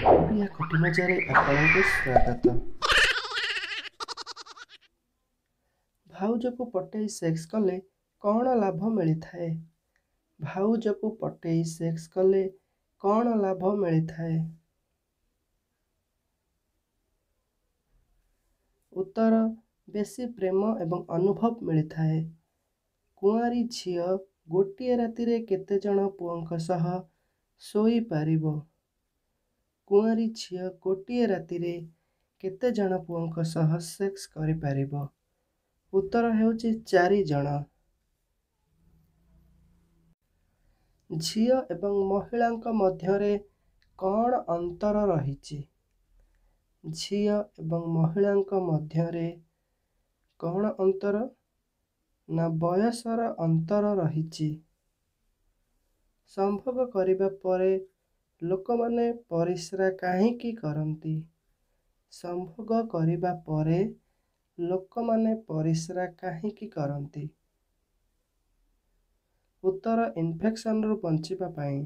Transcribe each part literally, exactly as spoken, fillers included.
ଓଡ଼ିଆ ଖଟି ମଜାରେ ଆପଣଙ୍କୁ ସ୍ୱାଗତ। ଭାଉଜକୁ ପଟେଇ ସେକ୍ସ କଲେ କ'ଣ ଲାଭ ମିଳିଥାଏ? ଭାଉଜକୁ ପଟେଇ ସେକ୍ସ କଲେ କ'ଣ ଲାଭ ମିଳିଥାଏ? ଉତ୍ତର, ବେଶୀ ପ୍ରେମ ଏବଂ ଅନୁଭବ ମିଳିଥାଏ। କୁଆଁରୀ ଝିଅ ଗୋଟିଏ ରାତିରେ କେତେଜଣ ପୁଅଙ୍କ ସହ ଶୋଇପାରିବ? କୁଆଁରୀ ଝିଅ ଗୋଟିଏ ରାତିରେ କେତେଜଣ ପୁଅଙ୍କ ସହ ସେକ୍ସ କରିପାରିବ? ଉତ୍ତର ହେଉଛି ଚାରି ଜଣ। ଝିଅ ଏବଂ ମହିଳାଙ୍କ ମଧ୍ୟରେ କ'ଣ ଅନ୍ତର ରହିଛି? ଝିଅ ଏବଂ ମହିଳାଙ୍କ ମଧ୍ୟରେ କ'ଣ ଅନ୍ତର? ନା, ବୟସର ଅନ୍ତର ରହିଛି। ସମ୍ଭୋଗ କରିବା ପରେ ଲୋକମାନେ ପରିସ୍ରା କାହିଁକି କରନ୍ତି? ସମ୍ଭୋଗ କରିବା ପରେ ଲୋକମାନେ ପରିସ୍ରା କାହିଁକି କରନ୍ତି? ଉତ୍ତର, ଇନଫେକ୍ସନରୁ ବଞ୍ଚିବା ପାଇଁ।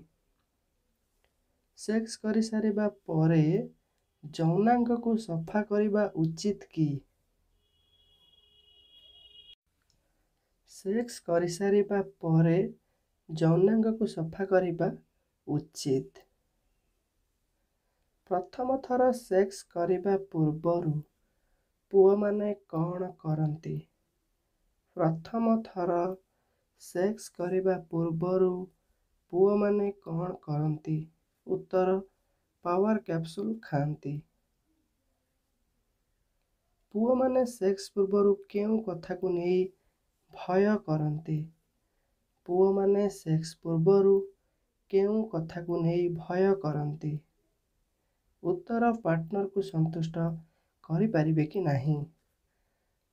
ସେକ୍ସ କରିସାରିବା ପରେ ଯୌନାଙ୍ଗକୁ ସଫା କରିବା ଉଚିତ କି? ସେକ୍ସ କରିସାରିବା ପରେ ଯୌନାଙ୍ଗକୁ ସଫା କରିବା ଉଚିତ। ପ୍ରଥମ ଥର ସେକ୍ସ କରିବା ପୂର୍ବରୁ ପୁଅମାନେ କ'ଣ କରନ୍ତି? ପ୍ରଥମ ଥର ସେକ୍ସ କରିବା ପୂର୍ବରୁ ପୁଅମାନେ କ'ଣ କରନ୍ତି? ଉତ୍ତର, ପାୱାର କ୍ୟାପସୁଲ ଖାଆନ୍ତି। ପୁଅମାନେ ସେକ୍ସ ପୂର୍ବରୁ କେଉଁ କଥାକୁ ନେଇ ଭୟ କରନ୍ତି? ପୁଅମାନେ ସେକ୍ସ ପୂର୍ବରୁ କେଉଁ କଥାକୁ ନେଇ ଭୟ କରନ୍ତି? ଉତ୍ତର, ପାର୍ଟନରକୁ ସନ୍ତୁଷ୍ଟ କରିପାରିବେ କି ନାହିଁ।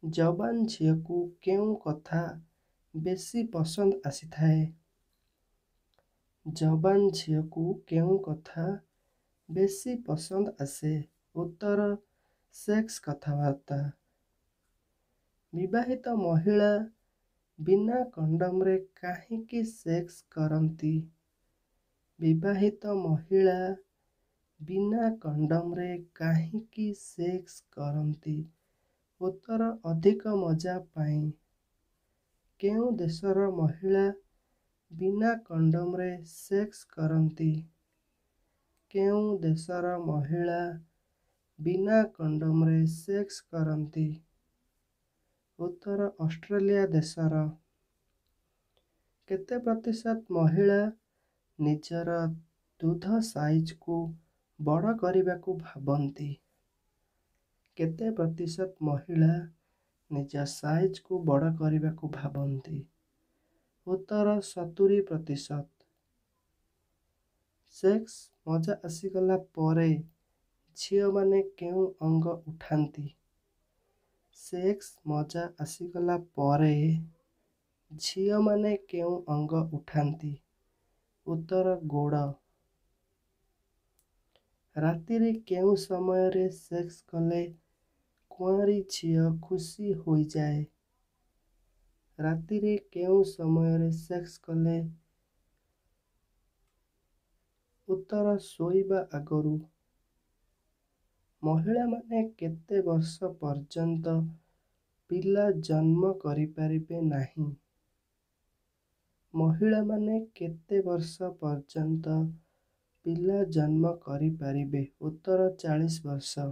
ଯବାନ ଝିଅକୁ କେଉଁ କଥା ବେଶୀ ପସନ୍ଦ ଆସିଥାଏ? ଯବାନ ଝିଅକୁ କେଉଁ କଥା ବେଶୀ ପସନ୍ଦ ଆସେ? ଉତ୍ତର, ସେକ୍ସ କଥାବାର୍ତ୍ତା। ବିବାହିତ ମହିଳା ବିନା କଣ୍ଡୋମରେ କାହିଁକି ସେକ୍ସ କରନ୍ତି? ବିବାହିତ ମହିଳା ବିନା କଣ୍ଡୋମରେ କାହିଁକି ସେକ୍ସ କରନ୍ତି? ଉତ୍ତର, ଅଧିକ ମଜା ପାଇଁ। କେଉଁ ଦେଶର ମହିଳା ବିନା କଣ୍ଡୋମରେ ସେକ୍ସ କରନ୍ତି? କେଉଁ ଦେଶର ମହିଳା ବିନା କଣ୍ଡୋମରେ ସେକ୍ସ କରନ୍ତି? ଉତ୍ତର, ଅଷ୍ଟ୍ରେଲିଆ ଦେଶର। କେତେ ପ୍ରତିଶତ ମହିଳା ନିଜର ଦୁଧ ସାଇଜକୁ ବଡ଼ କରିବାକୁ ଭାବନ୍ତି? କେତେ ପ୍ରତିଶତ ମହିଳା ନିଜ ସାଇଜକୁ ବଡ଼ କରିବାକୁ ଭାବନ୍ତି? ଉତ୍ତର, ସତୁରି ପ୍ରତିଶତ। ସେକ୍ସ ମଜା ଆସିଗଲା ପରେ ଝିଅମାନେ କେଉଁ ଅଙ୍ଗ ଉଠାନ୍ତି? ସେକ୍ସ ମଜା ଆସିଗଲା ପରେ ଝିଅମାନେ କେଉଁ ଅଙ୍ଗ ଉଠାନ୍ତି? ଉତ୍ତର, ଗୋଡ଼। ରାତିରେ କେଉଁ ସମୟରେ ସେକ୍ସ କଲେ କୁଆଁରୀ ଝିଅ ଖୁସି ହୋଇଯାଏ? ରାତିରେ କେଉଁ ସମୟରେ ସେକ୍ସ କଲେ? ଉତ୍ତର, ଶୋଇବା ଆଗରୁ। ମହିଳାମାନେ କେତେ ବର୍ଷ ପର୍ଯ୍ୟନ୍ତ ପିଲା ଜନ୍ମ କରିପାରିବେ ନାହିଁ? ମହିଳାମାନେ କେତେ ବର୍ଷ ପର୍ଯ୍ୟନ୍ତ ପିଲା ଜନ୍ମ କରିପାରିବେ? ଉତ୍ତର, ଚାଳିଶ ବର୍ଷ।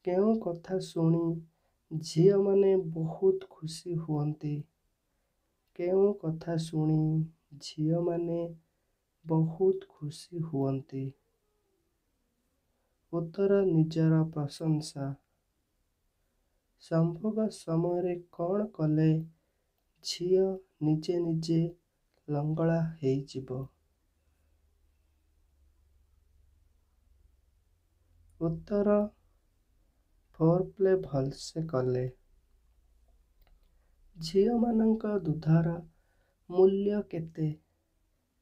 କେଉଁ କଥା ଶୁଣି ଝିଅମାନେ ବହୁତ ଖୁସି ହୁଅନ୍ତି? କେଉଁ କଥା ଶୁଣି ଝିଅମାନେ ବହୁତ ଖୁସି ହୁଅନ୍ତି? ଉତ୍ତର, ନିଜର ପ୍ରଶଂସା। ସମ୍ଭୋଗ ସମୟରେ କ'ଣ କଲେ ଝିଅ ନିଜେ ନିଜେ ଲଙ୍ଗଳା ହେଇଯିବ? ଉତ୍ତର, ଫୋରପ୍ଲେ ଭଲସେ କଲେ। ଝିଅମାନଙ୍କ ଦୁଧର ମୂଲ୍ୟ କେତେ?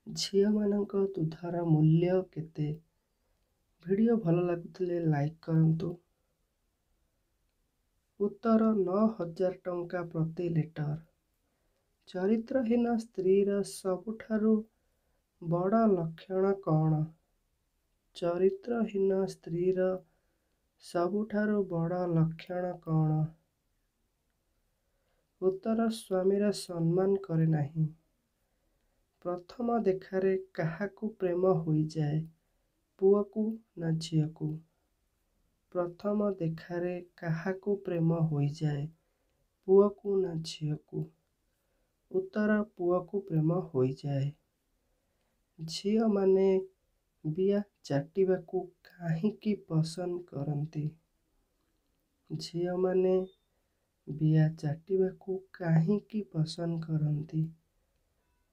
ଝିଅମାନଙ୍କ ଦୁଧର ମୂଲ୍ୟ କେତେ? ଭିଡ଼ିଓ ଭଲ ଲାଗୁଥିଲେ ଲାଇକ୍ କରନ୍ତୁ। ଉତ୍ତର, ନଅ ହଜାର ଟଙ୍କା ପ୍ରତି ଲିଟର। ଚରିତ୍ରହୀନ ସ୍ତ୍ରୀର ସବୁଠାରୁ ବଡ଼ ଲକ୍ଷଣ କ'ଣ? ଚରିତ୍ରହୀନ ସ୍ତ୍ରୀର ସବୁଠାରୁ ବଡ଼ ଲକ୍ଷଣ କ'ଣ? ଉତ୍ତର ସ୍ୱାମୀର ସମ୍ମାନ କରେ ନାହିଁ। ପ୍ରଥମ ଦେଖାରେ କାହାକୁ ପ୍ରେମ ହୋଇଯାଏ, ପୁଅକୁ ନା ଝିଅକୁ? ପ୍ରଥମ ଦେଖାରେ କାହାକୁ ପ୍ରେମ ହୋଇଯାଏ, ପୁଅକୁ ନା ଝିଅକୁ? ଉତ୍ତର ପୁଅକୁ ପ୍ରେମ ହୋଇଯାଏ। ଝିଅମାନେ ବିଆ ଚାଟିବାକୁ କାହିଁକି ପସନ୍ଦ କରନ୍ତି? ଝିଅମାନେ ବିଆ ଚାଟିବାକୁ କାହିଁକି ପସନ୍ଦ କରନ୍ତି?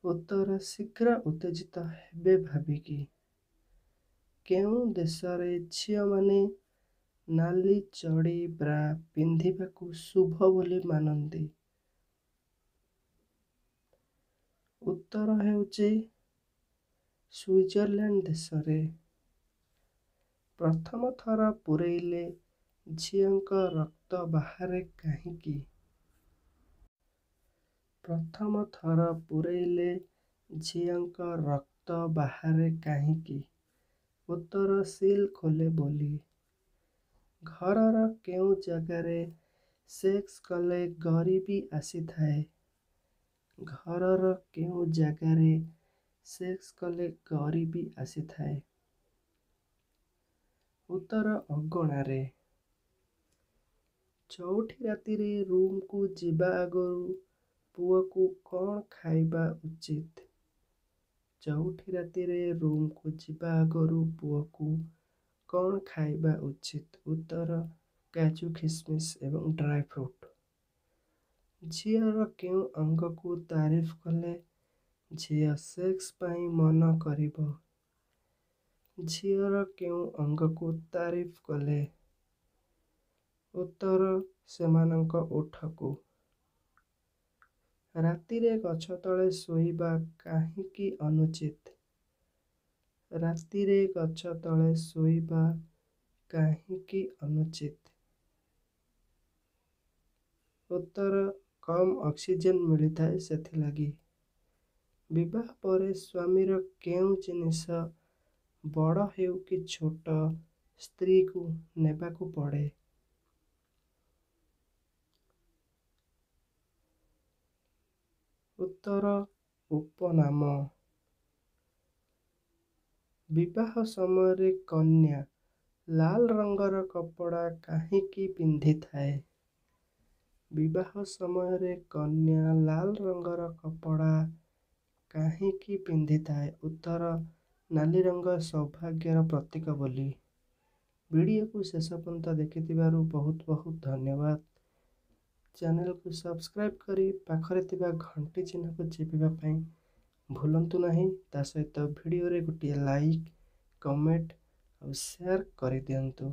ଉତ୍ତର ଶୀଘ୍ର ଉତ୍ତେଜିତ ହେବେ ଭାବିକି। କେଉଁ ଦେଶରେ ଝିଅମାନେ ନାଲି ଚଡ଼ି ବ୍ରା ପିନ୍ଧିବାକୁ ଶୁଭ ବୋଲି ମାନନ୍ତି? ଉତ୍ତର ହେଉଛି ସୁଇଜରଲ୍ୟାଣ୍ଡ ଦେଶରେ। ପ୍ରଥମ ଥର ପୂରେଇଲେ ଝିଅଙ୍କ ରକ୍ତ ବାହାରେ କାହିଁକି? ପ୍ରଥମ ଥର ପୂରେଇଲେ ଝିଅଙ୍କ ରକ୍ତ ବାହାରେ କାହିଁକି? ଉତ୍ତର ସିଲ୍ ଖୋଲେ ବୋଲି। ଘରର କେଉଁ ଜାଗାରେ ସେକ୍ସ କଲେ ଗରିବୀ ଆସିଥାଏ? ଘରର କେଉଁ ଜାଗାରେ ସେକ୍ସ କଲେ ଗରିବୀ ଆସିଥାଏ? ଉତ୍ତର ଅଗଣାରେ। ଚଉଠି ରାତିରେ ରୁମକୁ ଯିବା ଆଗରୁ ପୁଅକୁ କ'ଣ ଖାଇବା ଉଚିତ? ଚଉଠି ରାତିରେ ରୁମକୁ ଯିବା ଆଗରୁ ପୁଅକୁ କ'ଣ ଖାଇବା ଉଚିତ? ଉତ୍ତର କାଜୁ, ଖିସମିସ ଏବଂ ଡ୍ରାଏ ଫ୍ରୁଟ୍। ଝିଅର କେଉଁ ଅଙ୍ଗକୁ ତାରିଫ କଲେ ଝିଅ ସେକ୍ସ ପାଇଁ ମନ କରିବ? ଝିଅର କେଉଁ ଅଙ୍ଗକୁ ତାରିଫ କଲେ? ଉତ୍ତର ସେମାନଙ୍କ ଓଠକୁ। ରାତିରେ ଗଛ ତଳେ ଶୋଇବା କାହିଁକି ଅନୁଚିତ? ରାତିରେ ଗଛ ତଳେ ଶୋଇବା କାହିଁକି ଅନୁଚିତ? ଉତ୍ତର କମ୍ ଅକ୍ସିଜେନ୍ ମିଳିଥାଏ ସେଥିଲାଗି। ବିବାହ ପରେ ସ୍ୱାମୀର କେଉଁ ଜିନିଷ ବଡ଼ ହେଉ କି ଛୋଟ ସ୍ତ୍ରୀକୁ ନେବାକୁ ପଡ଼େ? ଉତ୍ତର ଉପନାମ। ବିବାହ ସମୟରେ କନ୍ୟା ଲାଲ ରଙ୍ଗର କପଡ଼ା କାହିଁକି ପିନ୍ଧିଥାଏ? ବିବାହ ସମୟରେ କନ୍ୟା ଲାଲ ରଙ୍ଗର କପଡ଼ା କାହିଁକି ପିନ୍ଧିଥାଏ? ଉତ୍ତର ନାଲି ରଙ୍ଗ ସୌଭାଗ୍ୟର ପ୍ରତୀକ ବୋଲି। ଭିଡ଼ିଓକୁ ଶେଷ ପର୍ଯ୍ୟନ୍ତ ଦେଖିଥିବାରୁ ବହୁତ ବହୁତ ଧନ୍ୟବାଦ। ଚ୍ୟାନେଲକୁ ସବସ୍କ୍ରାଇବ୍ କରି ପାଖରେ ଥିବା ଘଣ୍ଟି ଚିହ୍ନକୁ ଚିପିବା ପାଇଁ ଭୁଲନ୍ତୁ ନାହିଁ। ତା ସହିତ ଭିଡ଼ିଓରେ ଗୋଟିଏ ଲାଇକ୍, କମେଣ୍ଟ ଆଉ ସେୟାର କରିଦିଅନ୍ତୁ।